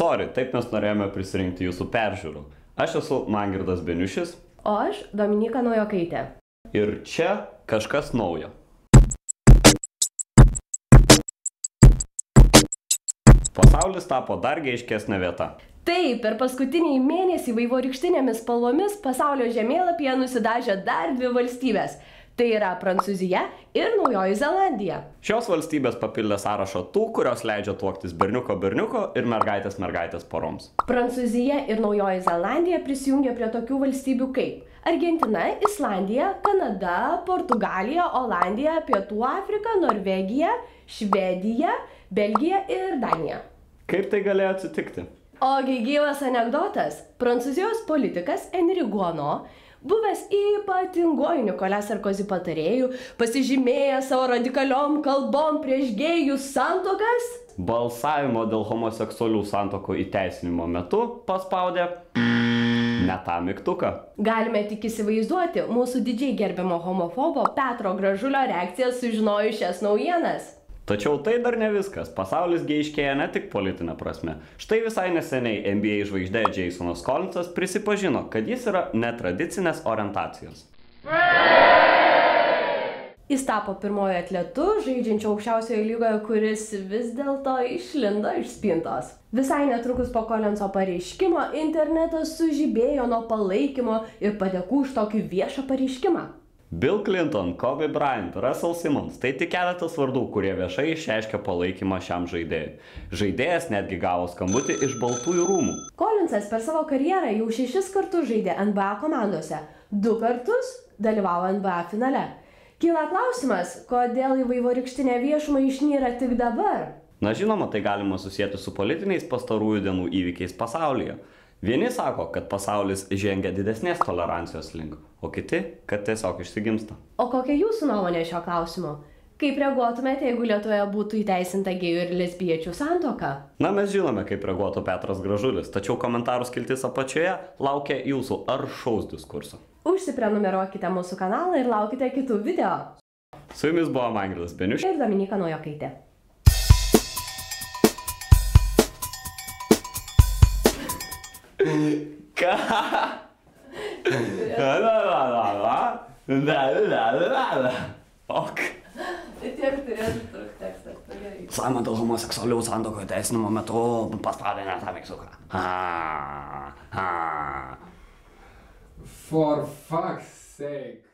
Sorry, taip mes norėjome prisirinkti jūsų peržiūrų. Aš esu Mangirdas Beniušis. O aš Dominika Naujokaitė. Ir čia kažkas naujo. Pasaulis tapo dar geiškesnė vieta. Taip, per paskutinį mėnesį vaivorykštinėmis spalvomis pasaulio žemėlapyje nusidažė dar 2 valstybės. Tai yra Prancūzija ir Naujoji Zelandija. Šios valstybės papildė sąrašą tų, kurios leidžia tuoktis berniuko ir mergaitės poroms. Prancūzija ir Naujoji Zelandija prisijungė prie tokių valstybių kaip Argentina, Islandija, Kanada, Portugalija, Olandija, Pietų Afrika, Norvegija, Švedija, Belgija ir Danija. Kaip tai galėjo atsitikti? Ogi gyvas anekdotas. Prancūzijos politikas Henri Guano, buvęs ypatinguoju Nicolas Sarkozy patarėjų, pasižymėjęs savo radikaliom kalbom prieš gėjų santuokas, balsavimo dėl homoseksualių santuokų įteisinimo metu paspaudė ne tą mygtuką. Galime tik įsivaizduoti mūsų didžiai gerbiamo homofobo Petro Gražulio reakciją sužinojus šias naujienas. Tačiau tai dar ne viskas. Pasaulis geiškėja ne tik politinė prasme. Štai visai neseniai NBA žvaigždė Jasonas Collinsas prisipažino, kad jis yra netradicinės orientacijos. Jis tapo pirmoju atletu, žaidžiančiu aukščiausioje lygoje, kuris vis dėlto išlindo iš spintos. Visai netrukus po Collinso pareiškimo internetas sužibėjo nuo palaikymo ir padėkų už tokį viešą pareiškimą. Bill Clinton, Kobe Bryant, Russell Simmons - tai tik keletas vardų, kurie viešai išreiškė palaikymą šiam žaidėjui. Žaidėjas netgi gavo skambutį iš Baltųjų rūmų. Collinsas per savo karjerą jau 6 kartus žaidė NBA komandose, 2 kartus dalyvavo NBA finale. Kyla klausimas, kodėl į vaivorykštinę viešumą išnyra tik dabar? Na žinoma, tai galima susijęti su politiniais pastarųjų dienų įvykiais pasaulyje. Vieni sako, kad pasaulis žengia didesnės tolerancijos link, o kiti, kad tiesiog išsigimsta. O kokia jūsų nuomonė šio klausimu? Kaip reaguotumėte, jeigu Lietuvoje būtų įteisinta gėjų ir lesbiečių santuoka? Na, mes žinome, kaip reaguotų Petras Gražulis, tačiau komentarų skiltis apačioje laukia jūsų aršaus diskurso. Užsiprenumeruokite mūsų kanalą ir laukite kitų video. Su jumis buvo Mangirdas Beniušis ir Dominika Naujokaitė. Ką? Ok. Tai tiek turėtų trukti tekstas. Balsavimą dėl homoseksualių santuokų įteisinimo metu paspaudė ne tą mygtuką. For fuck's sake.